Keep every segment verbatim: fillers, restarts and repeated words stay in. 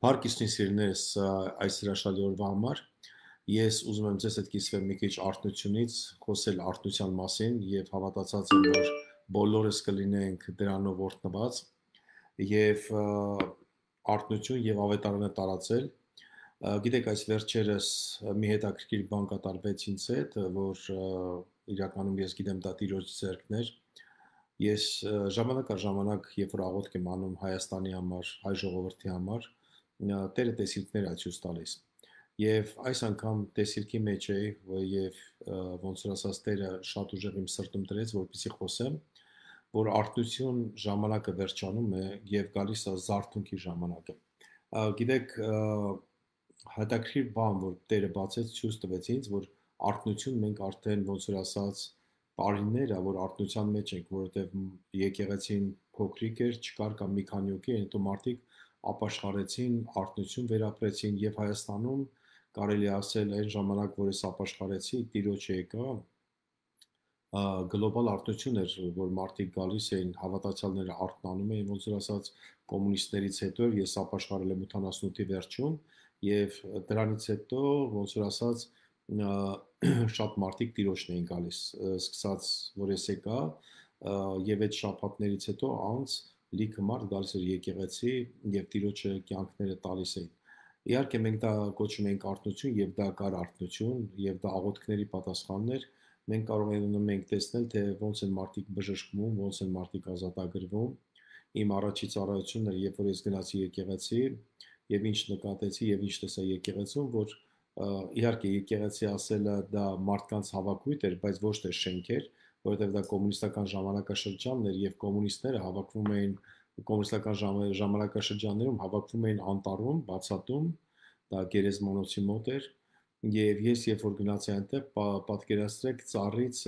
Հարկ իսկին սիրելիներս այս հրաշալի օրվա համար ես ուզում եմ ձեզ հետ կիսվել մի քիչ արթնությունից, խոսել արթնության մասին եւ հավատացած եմ, որ բոլորս կլինենք դրանով օրհնված եւ արթնություն եւ ավետարանը տարածել։ Գիտեք, այս վերջերս մի հետաքրքիր բան կատարվեց ինձ հետ, որ իրականում ես գիտեմ դա Տիրոջ ձեռքն էր։ Ես ժամանակ առ ժամանակ, երբ որ աղոթք եմ անում Հայաստանի համար, հայ ժողովրդի համար, Տերը տեսիլքներ է ցույց տալիս։ Եվ այս անգամ տեսիլքի մեջ էի, եւ ոնց որ ասած Տերը շատ ուժեղ իմ սրտում դրեց, որպեսզի խոսեմ, որ արթնություն ժամանակը վերջանում է եւ գալիս է զարթունքի ժամանակը։ Գիտեք, հետաքրքիր բան, որ Տերը բացեց, ցույց տվեց ինձ, որ արթնություն մենք արդեն ոնց որ ասած տարիներ է, որ արթնության մեջ ենք, որովհետեւ եկեղեցին փոքրիկ էր, չկար կամ մի քանի հոգի, հետո մարդիկ ապաշխարեցին, արթնություն վերապրեցին եւ Հայաստանում կարելի ասել այն ժամանակ, որ ես ապաշխարեցի, Տիրոջը եկա, գլոբալ արթնություն էր, որ մարդիկ գալիս էին, հավատացյալները արթնանում էին, ոնց որ ասած կոմունիստներից հետո ես ապաշխարել եմ ութանասունութի վերջում եւ դրանից հետո ոնց որ ասած շատ մարդիկ Տիրոջն էին գալիս, սկսած որ ես եկա եւ այդ շաբաթներից հետո անց լիքը մարդ գալիս էր եկեղեցի եւ Տիրոջը կյանքները տալիս էին։ Իհարկե մենք դա կոչում ենք արթնություն եւ դա կար արթնություն եւ դա աղոթքների պատասխանն էր։ Մենք կարող ենք տեսնել, թե ոնց են մարդիկ բժշկվում, ոնց են մարդիկ ազատագրվում։ Իմ առաջի ծառայությունն էր, երբ որ ես գնացի եկեղեցի եւ ինչ նկատեցի եւ ինչ տեսա եկեղեցում, որ իհարկե եկեղեցի ասելը դա մարդկանց հավաքույթ էր, բայց ոչ թե շենքեր, որովհետև դա կոմունիստական ժամանակաշրջանն էր եւ կոմունիստները հավաքվում էին կոմունիստական ժամանակաշրջաններում հավաքվում էին անտառում, բացատում, դա Գերեզմանոցի մոտ էր եւ ես երբ որ գնացի այնտեղ, պատկերացրեք ծառից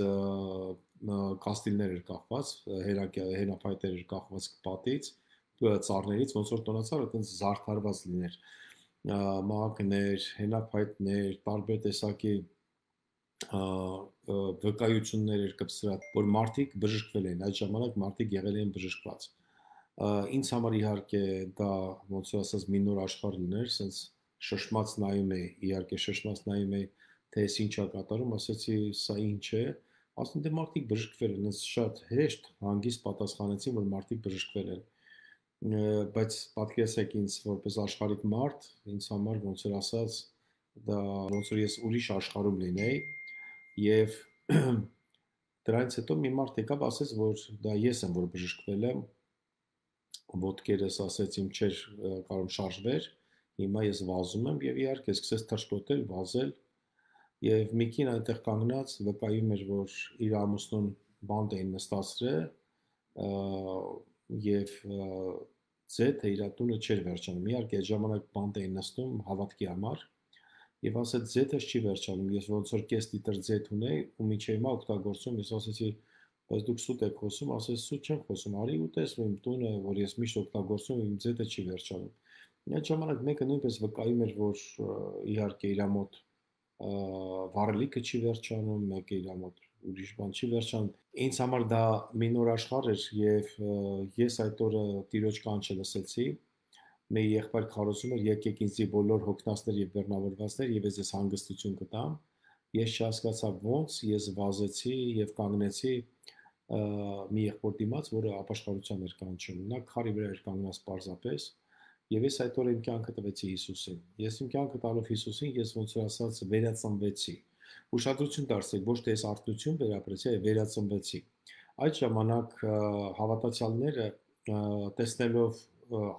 կաստիլներ էր կախված, հենափայտեր էր կախված պատից, ծառներից, ոնց որ տոնածառը այտենց զարդարված լիներ, մագներ, հենափայտներ, տարբեր տեսակի վկայություններ էր կպսրած, որ մարդիկ բժշկվել են, այդ ժամանակ մարդիկ եղել են բժշկված։ Ինձ համար իհարկե դա ոնց որ ասած մի նոր աշխարհ լիներ, sense շշմած նայում էի, իհարկե շշմած նայում էի, թե այս ինչ է կատարում, ասացի սա ինչ է, ասում դե մարդիկ բժշկվել են, ինձ շատ հեշտ հանգիստ պատասխանեցին, որ մարդիկ բժշկվել են։ Բայց պատկերացրեք ինձ որպես աշխարհիկ մարդ, ինձ համար ոնց որ ասած դա ոնց որ ես ուրիշ աշխարհում լինեի եւ դրանից հետո մի մարդ եկավ ասեց, որ դա ես եմ, որ բժշկվել եմ, ոտքերս ասեց իմ չէր կարող շարժվեր, հիմա ես վազում եմ եւ իհարկե սկսեց թռչկոտել, վազել եւ մի կին այնտեղ կանգնած վկայում էր, որ իր ամուսնուն բանտ էին նստածրել եւ ձեթը իր տունը չէր վերջանում։ Իհարկե այդ ժամանակ բանտ էին նստում հավատքի համար եւ ասեց ձեթս չի վերջանում։ Ես ոնց որ կես լիտր ձեթ ունեի ու միջի հիմա օգտագործում, ես ասեցի բայց դուք սուտ եք խոսում, ասես սուտ չեմ խոսում, արի ու տեսնում իմ տունը, որ ես միշտ օգտագործում եմ, իմ ձեթը չի վերջանում։ Այդ ժամանակ մեկը նույնպես վկայում էր, որ իհարկե իր մոտ վառելիքը չի վերջանում, մեկը իր մոտ ուրիշ բան չի վերջանում։ Ինձ համար դա մի նոր աշխարհ էր եւ ես այդ օրը Տիրոջ կանչը լսեցի։ Մեր եղբայր քարոզում էր եկեք ինձի բոլոր հոգնածներ եւ բեռնավորվածներ եւ ես հանգստություն կտամ։ Ես չհասկացա ոնց, ես վազեցի եւ կանգնեցի մի եղբոր դիմաց, որը ապաշխարության էր կանչում։ Նա քարի վրա էր կանգնած պարզապես եւ ես այդ օրը իմ կյանքը տվեցի Հիսուսին։ Ես իմ կյանքը տալով Հիսուսին, ես ոնց որ ասած վերածնվեցի։ Ուշադրություն դարձրեք, ոչ թե ես արթնություն վերապրեցի, այլ վերածնվեցի։ Այդ ժամանակ հավատացյալները տեսնելով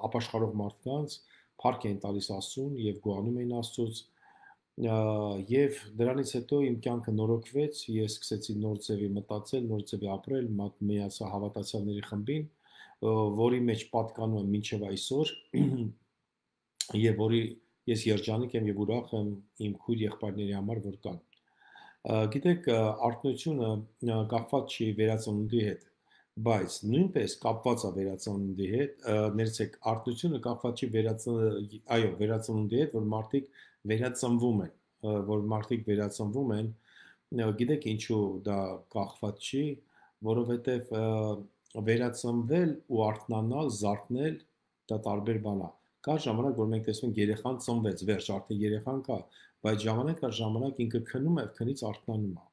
ապաշխարող մարդկանց փառք էին տալիս Աստծուն եւ գոհանում էին Աստծուց եւ դրանից հետո իմ կյանքը նորոգվեց, ես սկսեցի նոր ձևի մտածել, նոր ձևի ապրել, միացա հավատացյալների խմբին, որի մեջ պատկանում եմ մինչև այսօր եւ որի ես երջանիկ եմ եւ ուրախ եմ իմ քույր եղբայրների համար, որ կան։ Գիտեք, արթնությունը կապված չի վերածնունդի հետ, բայց նույնպես կապված է վերածնունդի հետ, ներեցեք, արթնությունը կապված չի վերածնունդի, այո, վերածնունդի հետ, որ մարդիկ վերածնվում են, որ մարդիկ վերածնվում են, գիտեք ինչու դա կախված չի, որովհետև վերածնվել ու արթնանալ, զարթնել դա տարբեր բան է։ Կա ժամանակ, որ մենք տեսնում ենք երեխան ծնվեց, վերջ, արդեն երեխան կա, բայց ժամանակ կա ժամանակ ինքը քնում է, քնից արթնանում է։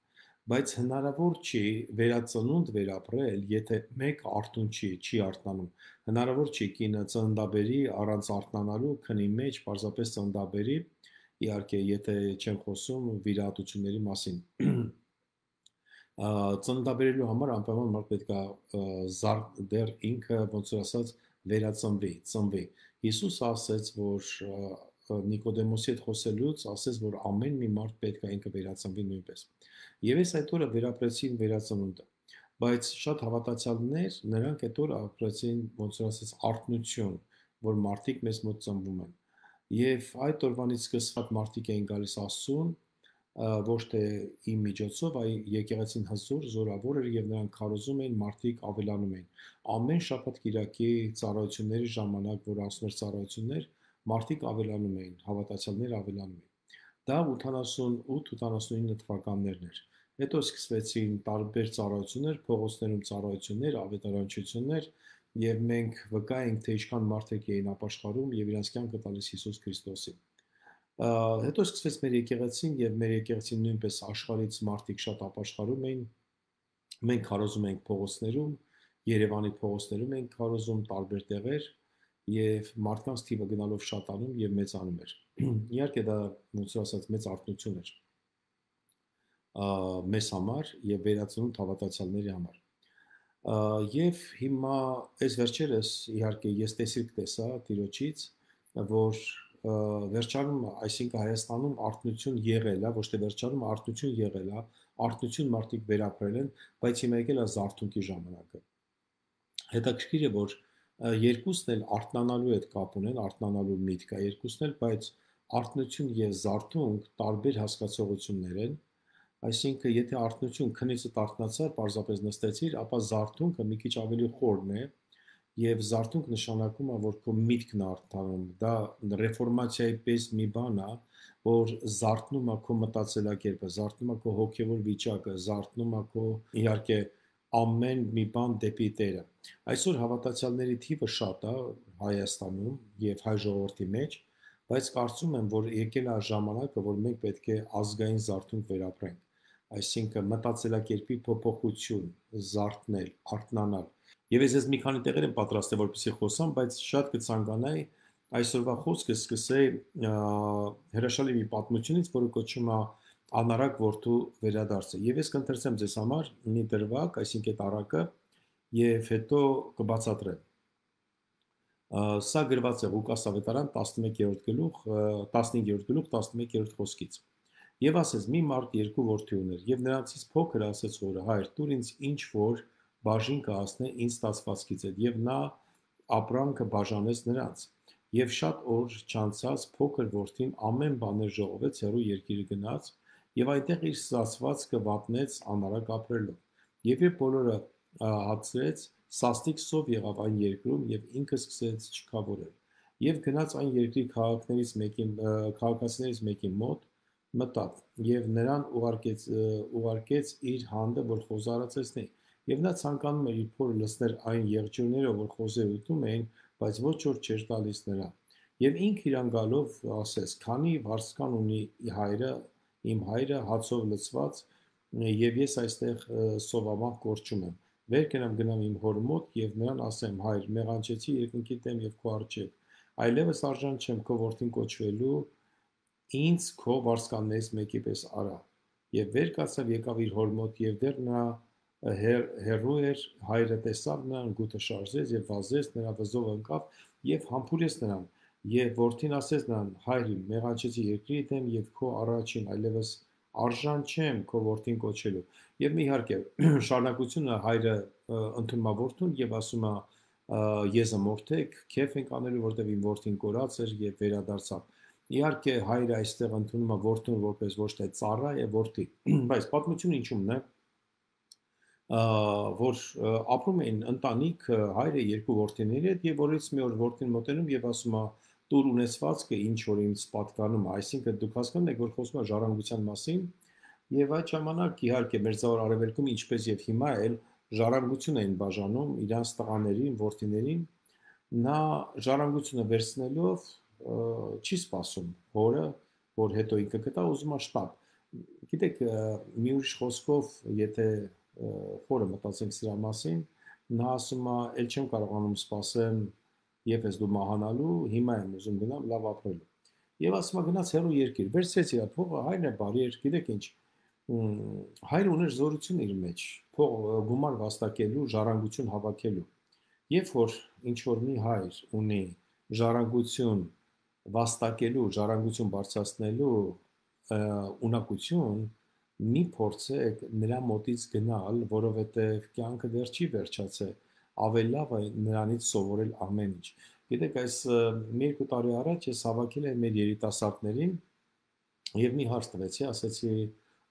Բայց հնարավոր չի վերածնունդ վերապրել, եթե մեկ արթուն չի, չի արթնանում։ Հնարավոր չի կինը ծննդաբերի առանց արթնանալու քնի մեջ, պարզապես ծննդաբերի, իհարկե, եթե չեմ խոսում վիրահատությունների մասին։ Ծննդաբերելու համար անպայման մարդ պետք է զար դեռ ինքը ոնց որ ասած վերածնվի, ծնվի։ Հիսուսը ասաց, որ Նիկոդեմոսի հետ խոսելուց ասաց, որ ամեն մի մարդ պետք է ինքը վերածնվի նույնպես։ Եվ այս այդ օրը վերապրեցին վերածնունդը։ Բայց շատ հավատացյալներ նրանք այդ օրը ապրեցին ոնց որ ասած արթնություն, որ մարդիկ մեզ մոտ ծնվում են։ Եվ այդ օրվանից սկսված մարդիկ էին գալիս Աստծուն, ոչ թե իմ միջոցով, այլ եկեղեցին հզոր, զորավոր էր եւ նրանք քարոզում էին, մարդիկ ավելանում էին։ Ամեն շաբաթ կիրակի ծառայությունների ժամանակ, որ անցնում էր ծառայություններ, մարդիկ ավելանում էին, հավատացյալներ ավելանում էին։ Դա ութանասունութ ութանասունինը թվականներն էր։ Հետո սկսվեցին տարբեր ծառայություններ, փողոցներում ծառայություններ, ավետարանչություններ, եւ մենք վկա ենք, թե ինչքան մարդիկ էին ապաշխարում եւ իրենց կյանքը տալիս Հիսուս Քրիստոսին։ Հետո սկսվեց մեր եկեղեցին եւ մեր եկեղեցին նույնպես աշխարհից մարդիկ շատ ապաշխարում էին։ Մենք քարոզում ենք փողոցներում, Երևանի փողոցներում ենք քարոզում տարբեր տեղեր եւ մարդկանց թիվը գնալով շատանում եւ մեծանում էր։ Իհարկե դա ոնց որ ասած մեծ արթնություն էր մեզ համար եւ վերածնունդ հավատացյալների համար։ Եվ հիմա այս վերջերս իհարկե ես տեսիք տեսա Տիրոջից, որ վերջանում, այսինքն Հայաստանում արթնություն եղել է, ոչ թե վերջանում արթնություն եղել է, արթնություն մարդիկ վերապրել են, բայց հիմա եկել է զարթունքի ժամանակը։ Հետաքրքիր է, որ երկուսն էլ արթնանալու հետ կապ ունեն, արթնանալու միտք է երկուսն էլ, բայց արթնություն եւ զարթունք տարբեր հասկացողություններ են։ Այսինքն, եթե արթնություն քնից արթնացա, պարզապես նստեցիր, ապա զարթունքը մի քիչ ավելի խորն է, եւ զարթունք նշանակում է, որ քո միտքն է արթնանում։ Դա ռեֆորմացիայի պես մի բան է, որ զարթնում է քո մտածելակերպը, զարթնում է քո հոգեվոր վիճակը, զարթնում է քո իհարկե ամեն մի բան դեպի Տերը։ Այսօր հավատացյալների թիվը շատ է Հայաստանում եւ հայ ժողովրդի մեջ, բայց կարծում եմ, որ եկել է ժամանակը, որ մենք պետք է ազգային զարթոնք վերապրենք, այսինքն մտածելակերպի փոփոխություն, զարթնել, արթնանալ։ Եվ ես ես մի քանի տեղեր եմ պատրաստել, որպեսզի խոսամ, բայց շատ կցանկանայի այսօրվա խոսքը սկսեի հրաշալի մի պատմությունից, որը կոչվում է Անարակ որդու վերադարձը։ Եվ ես կընթերցեմ ձեզ համար մի դրվագ, այսինքն այդ առակը, եւ հետո կբացատրեմ։ Սա գրված է Ղուկաս ավետարան տասնմեկերորդ գլուխ, տասնհինգերորդ գլուխ, տասնմեկերորդ խոսքից։ Եվ ասեց. մի մարդ երկու որդի ուներ, եւ նրանցից փոքրը ասեց հորը. հայր, տուր ինձ ինչ որ բաժին կհասնե ինձ ստացվածքից հետ, եւ նա ապրանքը բաժանեց նրանց։ Եվ շատ օր չանցած փոքր որդին ամեն բաներ ժողովեց, հեռու երկիրը գնաց, եւ այնտեղ իր ստացվածքը վատնեց անարակ ապրելով։ Եվ երբ բոլորը հացրեց, սաստիկ սով եղավ այն երկրում, եւ ինքը սկսեց չքավորել։ Եվ գնաց այն երկրի քաղաքներից մեկի քաղաքացիներից մեկի մոտ մտավ եւ նրան ուղարկեց ուղարկեց իր հանդը, որ խոզարացեցնի։ Եվ նա ցանկանում էր իր փորը լցնել այն եղջյուրները, որ խոզերը ուտում էին, բայց ոչ որ չէր տալիս նրան։ Եվ ինքը իրան գալով ասեց. «Քանի վարձկան ունի հայրը, իմ հայրը հացով լցված, եւ ես այստեղ սովամահ կորչում եմ։ Վեր կենամ գնամ իմ հոր մոտ եւ նրան ասեմ. հայր, մեղանչեցի երկնքի դեմ եւ քո առջեւ, այլևս արժան չեմ քո որդին կոչվելու, ինձ քո վարձկաններից մեկի պես արա։ Եվ վեր կացավ, եկավ իր հոր մոտ, եւ դեռ նա հեռու էր, հայրը տեսավ նրան, գութը շարժեց եւ վազեց, նրա վզով ընկավ եւ համբուրեց նրան։ Եվ որդին ասեց նրան. հայր իմ, մեղանչեցի երկրի դեմ եւ քո առաջին, այլևս արժան չեմ քո որդին կոչելու։ Եվ իհարկե շարունակությունը հայրը ընդունում է որդուն եւ ասում է եզը մորթեք, քեֆ ենք անելու, որտեվ իմ որդին կորած էր եւ վերադարձավ։ Իհարկե հայրը այստեղ ընդունում է որդուն որպես ոչ թե ծառա եւ որդի, բայց պատմությունը ինչումն է, որ ապրում էին ընտանիք հայրը երկու որդիների հետ եւ որից մի օր որդին մոտենում եւ ասում է տուր ունեցվածքը ինչ որ ինձ պատկանում է, այսինքն դուք հասկանում եք, որ խոսում է ժառանգության մասին, եւ այդ ժամանակ իհարկե Մերձավոր Արևելքում ինչպես եւ հիմա էլ ժառանգություն էին բաժանում իրանց տղաներին, որդիներին, Նա ժառանգությունը վերցնելով չի սպասում հորը, որ հետո ինքը կտա ուզում է շտապ։ Գիտեք, մի ուրիշ խոսքով, եթե խորը մտածենք սրա մասին, նա ասում է, «Էլ չեմ կարողանում սպասեմ եւ ես դու մահանալու, հիմա եմ ուզում գնամ լավ ապրելու»։ Եվ ասում է գնաց հեռու երկիր, վերցրեց իր փողը, հայրն է բարի էր, գիտեք ինչ, հայրը ուներ զորություն իր մեջ, փող գումար վաստակելու, ժառանգություն հավաքելու։ Երբ որ ինչ որ մի հայր ունի ժառանգություն վաստակելու, ժառանգություն բարձրացնելու ունակություն, մի փորձեք նրա մոտից գնալ, որովհետև կյանքը դեռ չի վերջացել, ավելի լավ է նրանից սովորել ամեն ինչ։ Գիտեք, այս մի երկու տարի առաջ ես հավաքել եմ մեր երիտասարդներին եւ մի հարց տվեցի, ասեցի,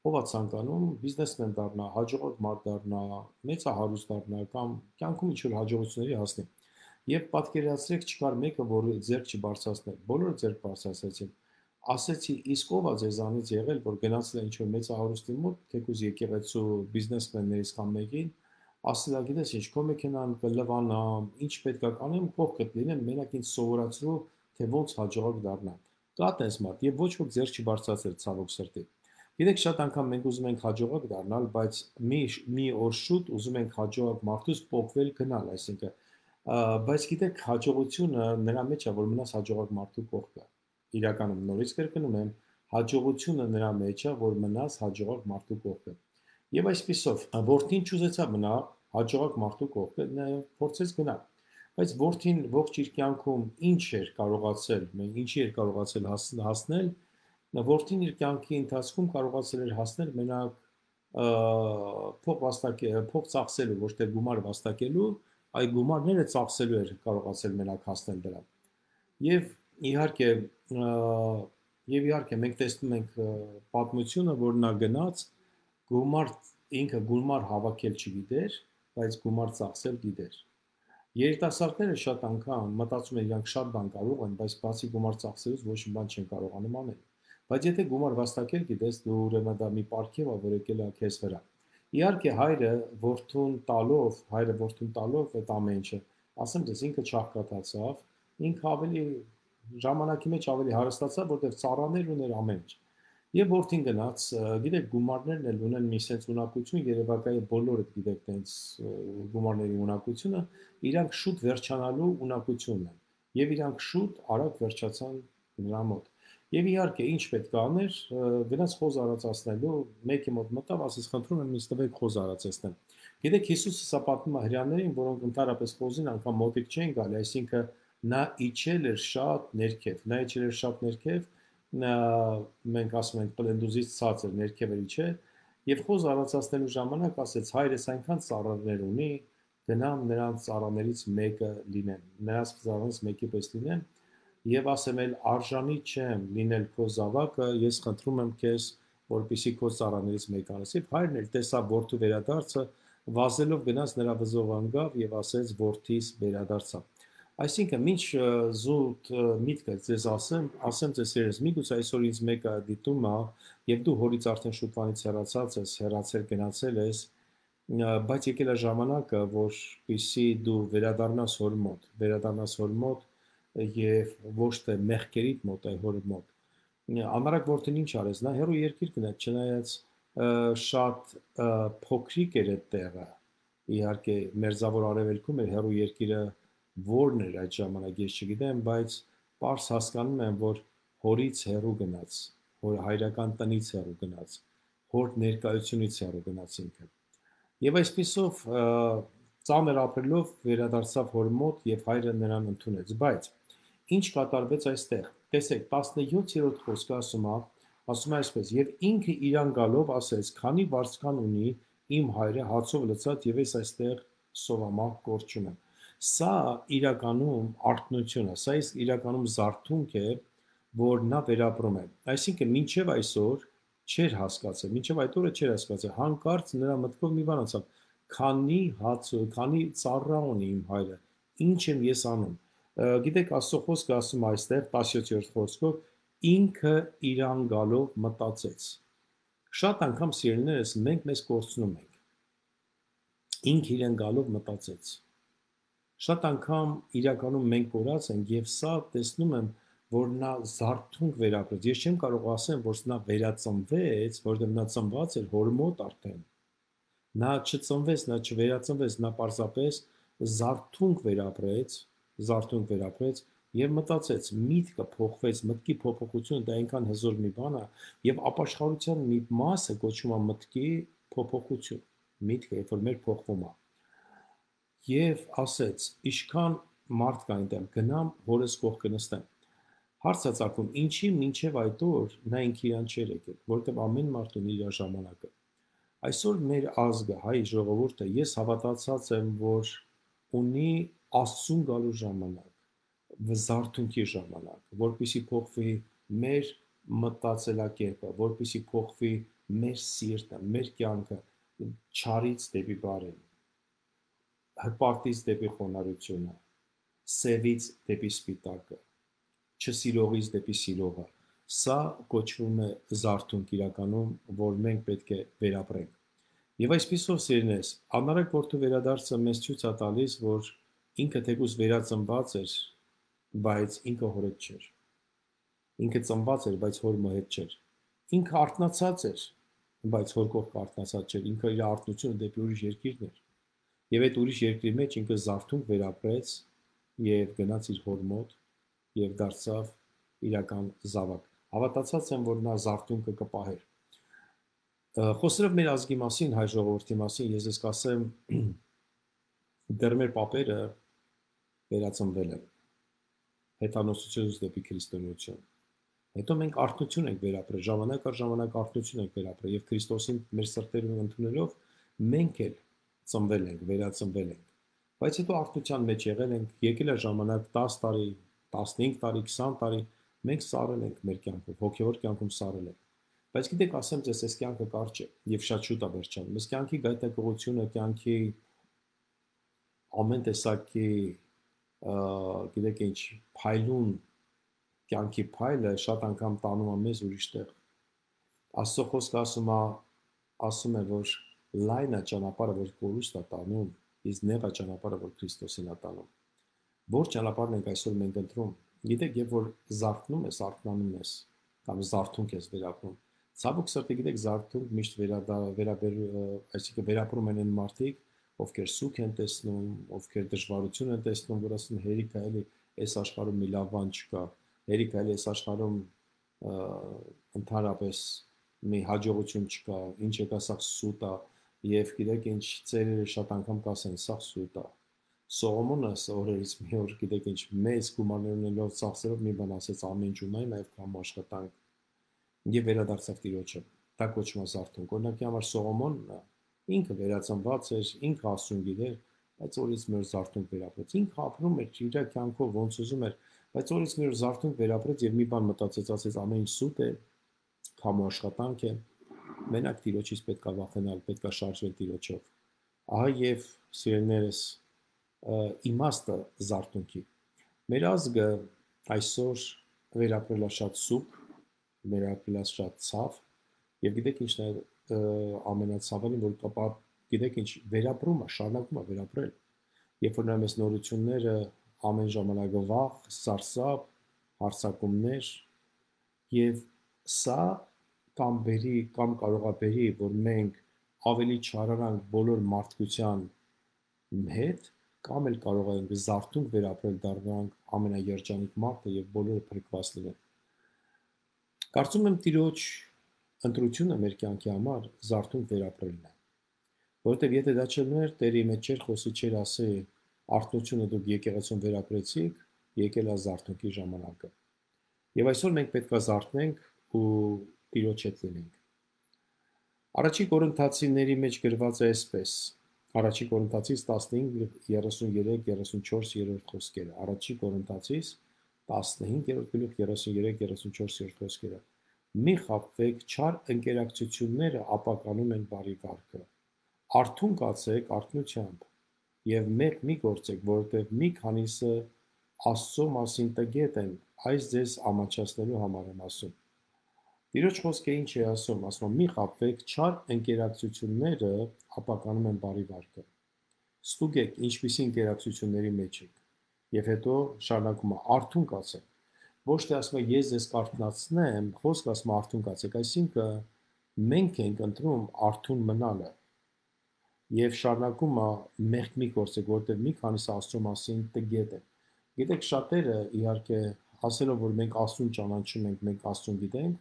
ով է ցանկանում բիզնեսմեն դառնա, հաջողակ մարդ դառնա, մեծահարուստ դառնա կամ կյանքում ինչ-որ հաջողությունների հասնի։ Եվ պատկերացրեք, չկար մեկը, որ ձեռք չբարձրացներ, բոլորը ձեռք բարձրացրեցին։ Ասեցի, իսկ ով է ձեզանից եղել, որ գնացել է ինչ-որ մեծահարուստի մոտ, թեկուզ եկեղեցու բիզնեսմեններից կամ մեկին, ասել է, գիտես ինչ, քո մեքենան կլվանա, ինչ պետք է կանեմ, կողքդ լինեմ, մենակ ինձ սովորացրու, թե ոնց հաջողակ դառնամ։ Կա տես մարդ, եւ ոչ ոք ձեռք չբարձրացրեց ցավոք սրտի։ Գիտեք, շատ անգամ մենք ուզում ենք հաջողակ դառնալ, բայց մի մի օր շուտ ուզում ենք հաջողակ մարդուց փոխվել գնալ, այսինքն, բայց գիտեք, հաջողությունը նրա մեջ է, որ մնաս հաջողակ մարդու կողքը։ Իրականում նորից կրկնում եմ, հաջողությունը նրա մեջ է, որ մնաս հաջողակ մարդու կողքը։ Եվ այսպիսով, որդին չուզեցավ մնա հաջողակ մարդու կողքը, նա փորձեց գնալ։ Բայց որդին ողջ իր կյանքում ինչ էր կարողացել, մենք ինչի էր կարողացել հասնել, որդին իր կյանքի ընթացքում կարողացել էր հասնել մենակ փող վաստակել, փող ծախսելու, ոչ թե գումար վաստակելու, այ գումարները ծախսելու էր կարողացել մենակ հասնել դրան։ Եվ իհարկե, եւ իհարկե մենք տեսնում ենք պատմությունը, որ նա գնաց գումար ինքը գումար հավաքել չգիտեր, բայց գումար ծախսել գիտեր։ Երիտասարդները շատ անգամ մտածում են իրանք շատ բան կարող են, բայց բացի գումար ծախսելուց ոչ մի բան չեն կարողանում անել։ Բայց եթե գումար վաստակել գիտես, դու ուրեմն դա մի պարգև է, որ եկել է քեզ վրա։ Իհարկե հայրը որդուն տալով, հայրը որդուն տալով այդ ամեն ինչը, ասեմ դες ինքը չաղքատացավ, ինքը ավելի ժամանակի մեջ ավելի հարստացավ, որտեղ ծառաներ ուներ ամեն ինչ։ Եվ որդին գնաց, գիտեք, գումարներն էլ ունեն մի sense ունակություն, երևակայի բոլորը գիտեք տենց գումարների ունակությունը, իրանք շուտ վերջանալու ունակությունն են։ Եվ իրանք շուտ արագ վերջացան նրա մոտ։ Եվ իհարկե, ինչ պետք է աներ, գնաց խոզ արածացնելու, մեկի մոտ մտավ, ասես խնդրում եմ ինձ տվեք խոզ արածեցնեմ։ Գիտեք, Հիսուսը սա պատմում է հրեաներին, որոնք ընդհանրապես խոզին անգամ մոտիկ չեն գալի, այսինքն նա իջել էր շատ ներքև, նա իջել էր շատ ներքև, մենք ասում ենք պլենդուզից ցածր ներքև էլի չէ, եւ խոզ արածացնելու ժամանակ ասեց հայրս այնքան ծառաներ ունի, գնամ նրանց ծառաներից մեկը լինեմ, նրանց ծառաներից մեկի պես լինեմ եւ ասեմ էլ արժանի չեմ լինել քո զավակը, ես խնդրում եմ քեզ, որպեսզի քո ծառաներից մեկը անես։ Եվ հայրն էլ տեսավ որդու վերադարձը, վազելով գնաց նրա վզով անգավ եւ ասեց որդիս վերադարձա։ Այսինքն, ինչ զուտ միտքը ձեզ ասեմ, ասեմ ձեզ երես, միգուցե այսօր ինձ մեկը դիտում է, եւ դու հորից արդեն շուտվանից հեռացած ես, հեռացել գնացել ես, բայց եկել է ժամանակը, որպեսզի դու վերադառնաս հոր մոտ, վերադառնաս հոր մոտ եւ ոչ թե մեղքերիդ մոտ, այլ հոր մոտ։ Անարակ որդին ինչ արեց, նա հեռու երկիր գնաց, չնայած շատ փոքրիկ էր այդ տեղը։ Իհարկե, մերձավոր արևելքում էր հեռու երկիրը որն էր այդ ժամանակ ես չգիտեմ, բայց պարզ հասկանում եմ, որ հորից հեռու գնաց, հոր հայրական տնից հեռու գնաց, հոր ներկայությունից հեռու գնաց ինքը։ Եվ այսպիսով ծանր ապրելով վերադարձավ հոր մոտ եւ հայրը նրան ընդունեց, բայց ինչ կատարվեց այստեղ։ Տեսեք, տասնյոթերորդ խոսքը ասում է, ասում է այսպես. եւ ինքը իրան գալով ասեց. քանի վարձկան ունի իմ հայրը հացով լցած եւ ես այստեղ սովամահ կորչում եմ։ Սա իրականում արթնություն է, սա իրականում զարթունք է, որ նա վերապրում է։ Այսինքն, մինչև այսօր չէր հասկացել, մինչև այդ օրը չէր հասկացել, հանկարծ նրա մտքով մի բան անցավ, քանի հաց, քանի ծառա ունի իմ հայրը, ինչ եմ ես անում։ Գիտեք, Աստծո խոսքը ասում է այստեղ տասնյոթերորդ խոսքով, ինքը իրան գալով մտածեց։ Շատ անգամ սիրելիներս մենք մեզ կորցնում ենք։ Ինքը իրան գալով մտածեց։ Շատ անգամ իրականում մենք կորած ենք եւ սա տեսնում եմ, որ նա զարթունք վերապրեց։ Ես չեմ կարող ասեմ, որ նա վերածնվեց, որովհետեւ նա ծնված էր հոր մոտ արդեն։ Նա չծնվեց, նա չվերածնվեց, նա պարզապես զարթունք վերապրեց, զարթունք վերապրեց եւ մտածեց, միտքը փոխվեց, մտքի փոփոխությունը դա այնքան հզոր մի բան է եւ ապաշխարության մի մասը կոչվում է մտքի փոփոխություն։ Միտքը, երբ որ մեր փոխվում է եւ ասեց. «Ինչքան մարդ կա այնտեղ, գնամ հորս կողքը նստեմ»։ Հարց է ծագում, ինչի մինչև այդ օր նա ինքը իրան չէր եկել, որովհետեւ ամեն մարդ ունի իր ժամանակը։ Այսօր մեր ազգը, հայ ժողովուրդը, ես հավատացած եմ, որ ունի Աստծուն գալու ժամանակ, զարթունքի ժամանակ, որպեսզի փոխվի մեր մտածելակերպը, որպեսզի փոխվի մեր սիրտը, մեր կյանքը չարից դեպի բարին, հպարտից դեպի խոնարհությունը, սևից դեպի սպիտակը, չսիրողից դեպի սիրողը։ Սա կոչվում է զարթունք իրականում, որ մենք պետք է վերապրենք։ Եվ այսպիսով սիրնես, անարակ որդու վերադարձը մեզ ցույց է տալիս, որ ինքը թեկուզ վերածնված էր, բայց ինքը հոր հետ չէր։ Ինքը ծնված էր, բայց հոր հետ չէր։ Ինքը արթնացած էր, բայց հոր կողքը արթնացած չէր։ Ինքը իր արթնությունը դեպի ուրիշ երկիրն էր։ Եվ այդ ուրիշ երկրի մեջ ինքը զարթունք վերապրեց եւ գնաց իր հոր մոտ եւ դարձավ իրական զավակ։ Հավատացած եմ, որ նա զարթունքը կպահեր։ Խոսելով մեր ազգի մասին, հայ ժողովրդի մասին, ես ես կասեմ, դեռ մեր պապերը վերածնվել են հեթանոսությունից դեպի քրիստոնեություն։ Հետո մենք արթնություն ենք վերապրել, ժամանակ առ ժամանակ արթնություն ենք վերապրել եւ Քրիստոսին մեր սրտերում ընդունելով մենք էլ ծնվել ենք, վերածնվել ենք։ Բայց հետո արթնության մեջ եղել ենք, եկել է ժամանակ դաս տարի, տասնհինգ տարի, քսան տարի, մենք սառել ենք մեր կյանքում, հոգեոր կյանքում սառել ենք։ Բայց գիտեք, ասեմ ձեզ, այս կյանքը կարճ է եւ շատ շուտ է վերջանում։ Այս կյանքի գայթակղությունը, կյանքի ամեն տեսակի, գիտեք ինչ, փայլուն կյանքի փայլը շատ անգամ տանում է մեզ ուրիշ տեղ։ Աստծո խոսքը ասում է, ասում է, որ լայնը ճանապարհը, որ կորուստ է տանում, իսկ նեղը ճանապարհը, որ Քրիստոսին է տանում։ Որ ճանապարհն ենք այսօր մենք ընտրում։ Գիտեք, երբ որ զարթնում ես, արթնանում ես, կամ զարթունք ես վերապրում։ Ցավոք սրտի, գիտեք, զարթունք միշտ վերաբեր, այսինքն վերապրում են այն մարդիկ, ովքեր սուգ են տեսնում, ովքեր դժվարություն են տեսնում, որ ասում հերիք է, էլի այս աշխարհում մի լավ բան չկա, հերիք է, էլի այս աշխարհում ընդհանրապես մի հաջողություն չկա, ինչ եկա սա սուտ է, եւ գիտեք ինչ ծերերը շատ անգամ կասեն, սա սուտ է։ Սողոմոնը օրերից մի օր, գիտեք ինչ, մեծ գումարներ ունելով ծախսերով մի բան ասեց, ամեն ինչ ունայն, նաեւ կամ աշխատանք, եւ վերադարձավ Տիրոջը։ Դա կոչվում է զարթունք։ Օրինակի համար Սողոմոնը ինքը վերածնված էր, ինքը Աստծուն գիտեր, բայց օրից մի օր զարթունք վերապրեց։ Ինքը ապրում էր իր կյանքով ոնց ուզում էր, բայց օրից մի օր զարթունք վերապրեց եւ մի բան մտածեց, ասեց ամեն ինչ սուտ է, քամու աշխատանք է, մենակ Տիրոջից պետք է վախենալ, պետք է շարժվել Տիրոջով։ Ահա եւ սիրելիներս իմաստը զարթունքի։ Մեր ազգը այսօր վերապրել է շատ սուգ, վերապրել է շատ ցավ, եւ գիտեք ինչն է ամենացավալին, որ կապա, գիտեք ինչ, վերապրում է, շարունակում է վերապրել։ Երբ որ նայում ես նորությունները, ամեն ժամանակ վախ, սարսափ, հարձակումներ, եւ սա կամ բերի, կամ կարող է բերի, որ մենք ավելի չարարանք բոլոր մարդկության հետ, կամ էլ կարող ենք զարթունք վերապրել, դառնանք ամենաերջանիկ մարդը եւ բոլորը փրկված լինեն։ Կարծում եմ Տիրոջ ընտրությունը մեր կյանքի համար զարթունք վերապրելն է։ Որովհետեւ եթե դա չլներ, Տերը մեջ չէր խոսի, չէր ասի, արթնությունը դուք եկեղեցուն վերապրեցիք, եկել է զարթունքի ժամանակը։ Եվ այսօր մենք պետք է զարթնենք ու Տիրոջ հետ լինենք։ Առաջի Կորինթացիների մեջ գրված է այսպես. Առաջի Կորինթացիս տասնհինգ երեսուններեք երեսունչորս խոսքերը։ Առաջի Կորինթացիս տասնհինգ գլուխ երեսուններեք երեսունչորս խոսքերը։ Մի խաբվեք, չար ընկերակցությունները ապականում են բարի վարքը։ Արթուն կացեք արթնությամբ եւ մեկ մի գործեք, որովհետեւ մի քանիսը Աստծո մասին տգետ են, այս ձեզ ամաչացնելու համար եմ ասում։ Տիրոջ խոսքը ինչ է ասում, ասում մի խաբվեք, չար ընկերակցությունները ապականում են բարի վարքը։ Ստուգեք ինչպիսի ինտերակցիությունների մեջ եք, եւ հետո շարունակում է արթուն կացեք։ Ոչ թե ասում է ես ձեզ կարթնացնեմ, խոսքը ասում է արթուն կացեք, այսինքն մենք ենք ընտրում արթուն մնալը եւ շարունակում է մեղք մի գործեք, որտեղ մի քանիսը Աստծո մասին տգետ է։ Գիտեք, շատերը իհարկե ասելով, որ մենք Աստծուն ճանաչում ենք, մենք Աստծուն գիտենք,